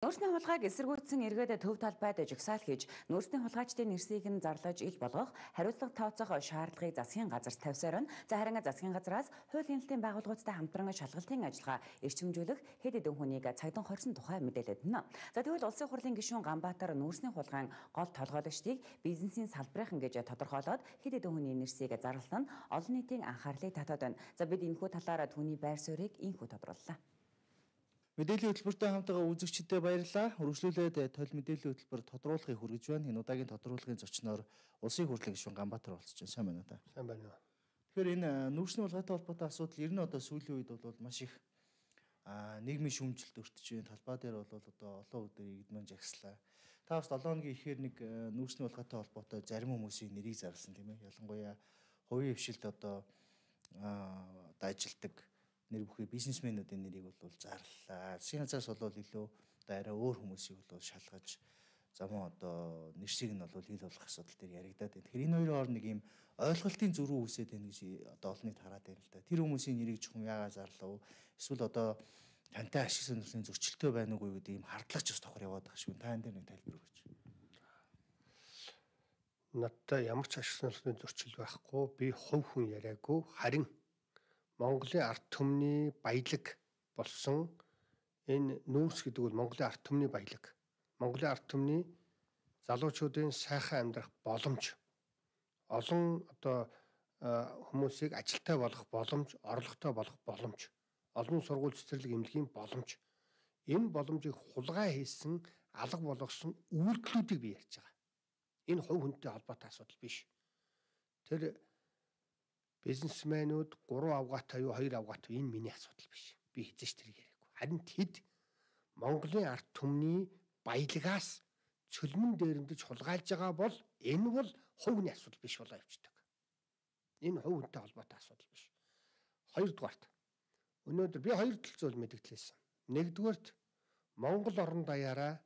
Нүүрсний хулгайг эсэргүүцсэн эргээд төв талбайд жагсаал хийж, нүүрсний хулгайчдын нэрсийг нь зарлаж ил болгох, хариуцлага тооцоох шаардлагыг засгийн газарт тавьсаар нь харин засгийн газраас хууль эрхлэлтийн байгууллагуудтай хамтран шалгалтын ажиллагаа эрчимжүүлэх хэд хэдэн хүнийг цагдан хорсон тухай мэдээлээд байна. За тэгвэл улсын хурлын гишүүн Ганбаатар нүүрсний хулгайн гол толгойлогчдыг бизнесийн салбарын гэж тодорхойлоод хэд хэдэн хүний нэрсийг зарласан нь олон нийтийн анхаарлыг татаад байна. За бид энэхүү талаараа түүний байр суурийг инхүү тодрууллаа. Мэдээллийн хөтөлбөртэй хамтдаа үзэгчдэд баярлалаа. Үргэлжлүүлээд тойл мэдээллийн хөтөлбөр тодруулахыг хүргэж байна. Энэ удаагийн тодруулгын зочноор улсын хурлын гишүүн Ганбаатар болчихсон. Сайн байна уу та? Сайн байна. Тэгэхээр энэ нүүрсний хулгайтай холбоотой асуудал ер нь одоо сүүлийн үед бол маш их нийгмийн шүүмжилт өртөж байна. Талбай дээр бол одоо олон өдөр игдмэн жагслаа. Та бас 7 хоногийн ихээр нэг нүүрсний хулгайтай холбоотой зарим хүмүүсийн нэрийг зарласан тийм ээ. Ялангуяа хувийн хвшилд одоо ажилдаг нэр бүхий бизнесмэнүүдийн нэрийг бол зарлаа. Засгийн газраас бол илүү одоо арай өөр хүмүүсийг бол шалгаж замун одоо нэрсийг нь бол ил болох асуудал дээр яригадаад байна. Тэгэхээр энэ хоёрын хооронд нэг юм ойлголтын зөрүү үүсээд байна гэж одоо олон нийт хараад байна л да. Тэр хүмүүсийн нэрийг чухам яагаад зарлав? Эсвэл одоо тантай ашиг сонирхлын зөрчилтэй байна уугүй гэдэг юм хардлагч бас тохор яваад байгаа шүү. Та энэ дээр нэг тайлбар өгөөч. Надтай ямар ч ашиг сонирхлын зөрчил байхгүй. Би хувь хүн яриаггүй. Харин Монголын ард түмний баялаг болсон энэ нүүрс гэдэг бол Монголын ард түмний баялаг. Монголын ард түмний залуучуудын сайхан амьдрах боломж, олон одоо хүмүүсийг ажилтай болгох боломж, орлоготой болгох боломж, олон сургууль цэцэрлэг эмнэлгийн боломж. Энэ боломжийг хулгай хийсэн, алга болгосон үйлдэлүүдийг би ярьж байгаа. Энэ хувь хүнтэй холбоотой асуудал биш. Тэр бизнесмэнүүд 3 авгаатай юу 2 авгаатай энэ миний асуудал биш. Би хэзээ ч тэрийг яриаггүй. Харин тэд Монголын ард түмний баялагаас цөлмөн дээрэмдэж хулгайлж байгаа бол энэ бол хувийн асуудал биш болоо явждаг. Энэ хувь хүнтэй холбоотой асуудал биш. Хоёрдугаарт өнөөдөр би хоёр тал зүйл мэдгдлээсэн. Нэгдүгээрт Монгол орон даяараа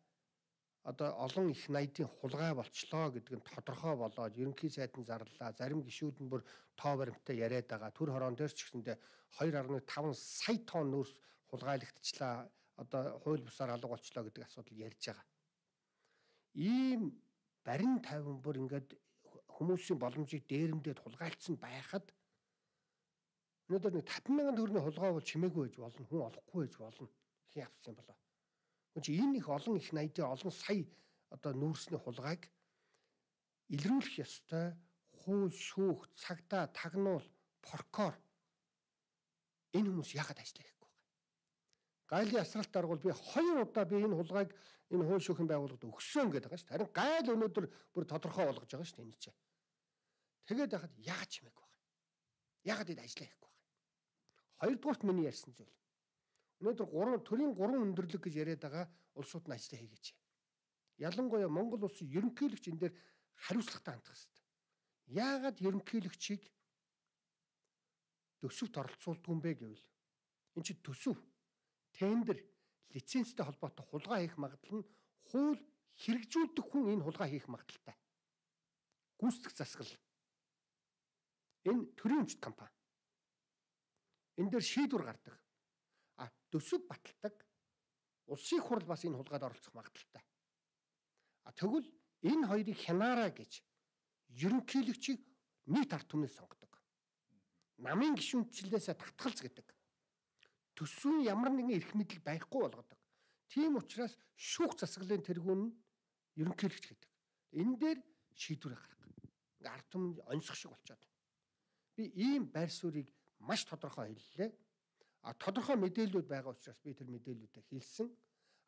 одоо олон их найдын хулгай болчлоо гэдэг нь тодорхой болоод ерөнхий сайд нь зарлаа. Зарим гишүүд нь бүр тоо баримттай яриад байгаа. Түр хорон дээр ч гэсэндээ 2.5 сая тонн нүүрс хулгайлагдчихлаа. Одоо хууль бусаар алга болчлоо гэдэг асуудал ярьж байгаа. Ийм барин тайван бүр ингээд хүмүүсийн боломжийг дээрэмдээд хулгайлцсан байхад өнөөдөр нэг 50,000 төгрөгийн хулгай бол чимээгүй байж болно. Хүн олохгүй байж болно. Хин авсан болоо. Энэ их олон их найдын олон сая одоо нүүрсний хулгайг илрүүлэх ёстой хууль шүүх цагдаа тагнуул прокурор энэ хүмүүс яагаад ажиллах гэхгүй байна. Гайлын асралт аргуул би 2 удаа би энэ хулгайг энэ хууль шүүхийн байгууллагад өгсөн гэдэг байгаа шүү. Харин гайл өнөөдөр бүр тодорхой болгож байгаа шүү энэ чинь. Тэгээд яхад яагаад чимээгүй байна. Яагаад энэ ажиллах гэхгүй байна. Хоёрдугаарт миний ярьсан зүйл. Өнөөдөр төрийн 3 өндөрлөг гэж яриад байгаа улсууд нь ажиллаа хийгээч. Ялангуяа Монгол улсын ерөнхийлөгч энэ дээр хариуцлагатай хандах хэрэгтэй. Яагаад ерөнхийлөгчийг төсөвт оролцуулдаг юм бэ гэвэл энэ чинь төсөв, тендер, лицензтэй холбоотой хулгай хийх магадлал нь хууль хэрэгжүүлдэг хүн энэ хулгай хийх магадaltaй. Гүйцэтгэх засаглал. Энэ төрийн өмчт компани. Энэ дээр шийдвэр гардаг. Төсөв баталдаг улсын хурл бас энэ хулгайд оролцох магадaltaй. Тэгвэл энэ хоёрыг хянаараа гэж ерөнхийлөгчийг нийт ард түмнээс сонгодог. Намын гишүүнчлэлээс татгалз гэдэг. Төсвийн ямар нэгэн эрх мэдэл байхгүй болгодог. Тийм учраас шүүх засаглалын тэргүүн нь ерөнхийлөгч гэдэг. Энэ дээр шийдвэр гаргах. Ард түмэн онцгой шиг болчиход. Би ийм байр суурийг маш тодорхой хэллээ. Тодорхой мэдээлэлүүд байгаа учраас би тэр мэдээллүүдээ хэлсэн.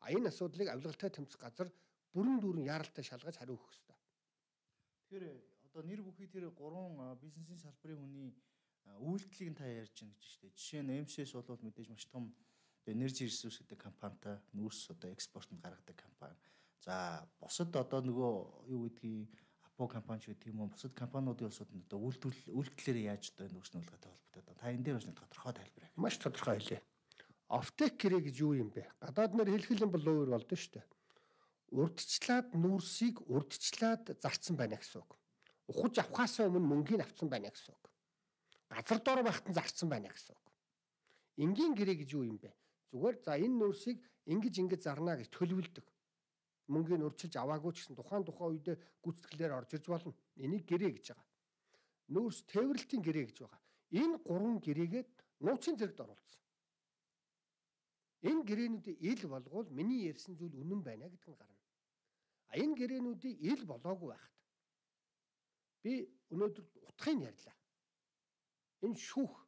Энэ асуудлыг авилгалтай тэмцэх газар бүрэн дүүрэн яаралтай шалгаж хариу өгөх ёстой. Тэгэхээр одоо нэр бүхий тэр 3 бизнесийн салбарын хүний үйлдэлийг та ярьж байна гэж штэ. Жишээ нь MCS бол мэдээж маш том Energy Resource гэдэг компанитай нүүрс одоо экспортод гаргадаг компани. За бусад одоо нөгөө юу гэдгийг Апо компани ч гэдэг юм уу бусад компаниудын улсууд нь одоо үйлдэлээр яаж одоо нүүрсний хулгайтай холбоотой. Та энэ дээр бас нэг тодорхой тайлбар өгье. Маш тодорхой хэлье. Офтек гэрээ гэж юу юм бэ? Гадаад нэр хэлхэл юм бол өөр болдоо шүү дээ. Урдчлаад нүүрсийг урдчлаад зарцсан байна гэсэн үг. Ухаж авахаас өмнө мөнгийг авсан байна гэсэн үг. Газар дор байхад нь зарцсан байна гэсэн үг. Энгийн гэрээ гэж юу юм бэ? Зүгээр за энэ нүүрсийг ингэж зарна гэж төлөвлөдөг. Мөнгөний урьдчилж аваагүй ч гэсэн тухайн үедээ гүйцэтгэлээр орж ирж болно. Энийг гэрээ гэж байгаа. Нүүрс тээвэрлэлтийн гэрээ гэж байгаа. Энэ 3 гэрээгээд нууцын зэрэгт оруулсан. Энэ гэрээнүүдийн ил болгоул миний ярьсан зүйл үнэн байна гэдэг нь гарна. Энэ гэрээнүүдийн ил болоогүй байхад би өнөөдөр утгыг ярьлаа. Энэ шүүх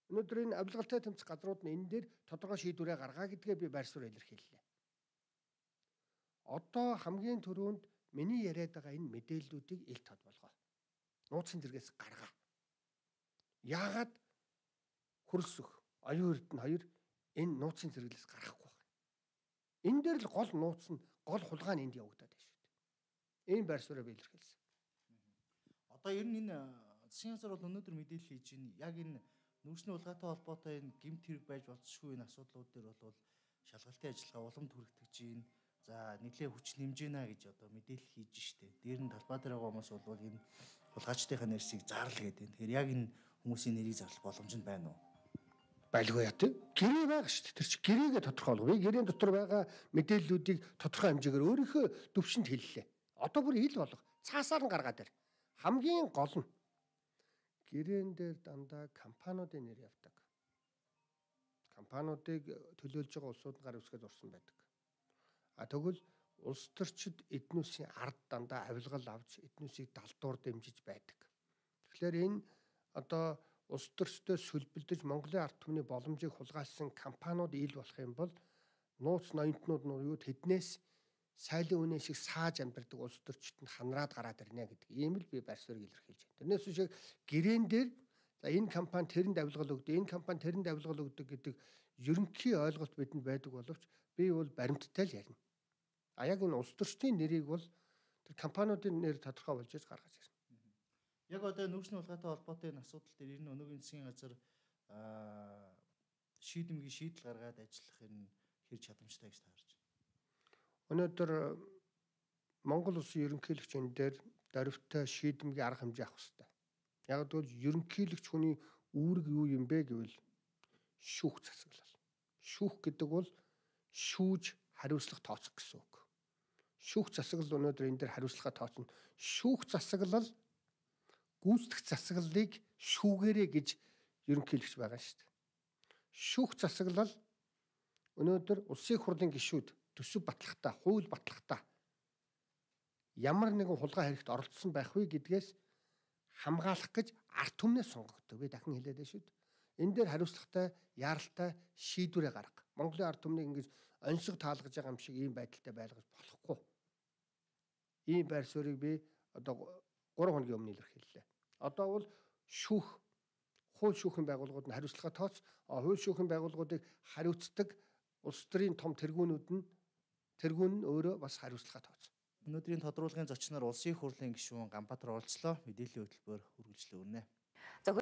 өнөөдөр энэ авилгалтай тэмцэх газрууд нь энэ дээр тодорхой шийдвэрээ гаргаа гэдгээ би байр суурь илэрхийллээ. Одоо хамгийн түрүүнд миний яриад байгаа энэ мэдээллүүдийг ил тод болгоо. Нууцын зэрэгээс гаргаа. Яагаад хөрөлсөх оюун эрдэнэ хоёр энэ нууцын зэрэглээс гарахгүй байна. Энэ дээр л гол нууц нь гол хулгай нь энд явагдаад байна шүү дээ. Энэ байр суурийг илэрхийлсэн. Одоо ер нь энэ засгийн газар бол өнөөдөр мэдээлэл хийж байна. Яг энэ нүүрсний хулгайтай холбоотой энэ гэмт хэрэг байж болцсохгүй энэ асуудлууд дээр бол шалгалтын ажиллагаа уламд хүрэгдэж байна. За нэлээд хүч нэмж гинэ гэж одоо мэдээлэл хийж штэ. Дээр нь талбай дээр байгаа хүмүүс бол энэ хулгайчдынхаа нэрсийг зарлал гэдэг. Тэгэхээр яг энэ хүмүүсийн нэрийг зарлах боломж нь байна уу? Байлгүй яа тий. Гэрээ байгаа шүү дээ. Тэр чинь гэрээгээ тодорхойлгоо. Би гэрээн дотор байгаа мэдээллүүдийг тодорхой хэмжээгээр өөрийнхөө төвшөнд хэллээ. Одоо бүр ил болго. Цаасаар нь гаргаад ир. Хамгийн гол нь гэрээн дээр дандаа компаниудын нэр явдаг. Компаниудыг төлөөлж байгаа улсууд гар үсгээд урсан байдаг. Тэгвэл улс төрчид эднүсийн ард дандаа авилгал авч эднүсийг далдуур дэмжиж байдаг. Тэгэхээр энэ одоо улс төрчдөө сүлбэлдэж Монголын ард түмний боломжийг хулгайлсан компаниуд ил болох юм бол нууц ноёнтнууд нь юу тэднээс сайлын үнэ шиг сааж амьдардаг улс төрчид нь ханараад гараад ирнэ гэдэг ийм л би байр суурийг илэрхийлж байна. Тэрнээс биш гэрээн дээр за энэ компани тэрэнд авилгал өгдөг, энэ компани тэрэнд авилгал өгдөг гэдэг ерөнхий ойлголт бидэнд байдаг боловч би бол баримттай л ярина. Яг энэ улс төрчдийн нэрийг бол тэр компаниудын нэр тодорхой болж гаргаж ирнэ. Яг одоо нүүрсний хулгайтай холбоотой энэ асуудал дээр ер нь өнөөгийн засгийн газар шийдэмгий шийдэл гаргаад ажиллах энэ хэр чадамжтай гэж таарч байна. Өнөөдөр Монгол улсын ерөнхийлөгч энэ дээр даривтай шийдэмгий арга хэмжээ авах хэрэгтэй. Яг гэвэл ерөнхийлөгч хүний үүрэг юу юм бэ гэвэл шүүх засаглал. Шүүх гэдэг бол шүүж хариуцлага тооцох гэсэн үг. Шүүх засаглал өнөөдөр энэ дээр хариуцлага тооцно. Шүүх засаглал гүйцэтгэх засаглалыг шүүгээрэй гэж ерөнхийлөгч байгаа шүү дээ. Шүүх засаглал өнөөдөр улсын хурлын гишүүд төсөв батлагтаа, хууль батлагтаа ямар нэгэн хулгай хэрэгт оролцсон байх вэ гэдгээс хамгаалах гэж ард түмнээ сонгогддог. Би дахин хэлээд байна шүү дээ. Энэ дээр хариуцлагатай, яаралтай шийдвэрээ гарга. Монголын ард түмнийг ингэж онцгой таалгаж байгаа юм шиг ийм байдалтай байлгаж болохгүй. Ийм байр суурийг би одоо 3 хоногийн өмнө илэрхийллээ. Одоо бол хууль шүүхийн байгууллагууд нь хариуцлага тооц, хууль шүүхийн байгууллагуудыг хариуцдаг улс төрийн том тэргүүн нь өөрөө бас хариуцлага тооц. Өнөөдрийн тодруулгын зочноор улсын хурлын гишүүн Ганбаатар оролцлоо. Мэдээллийн хөтөлбөр үргэлжлүүлнэ.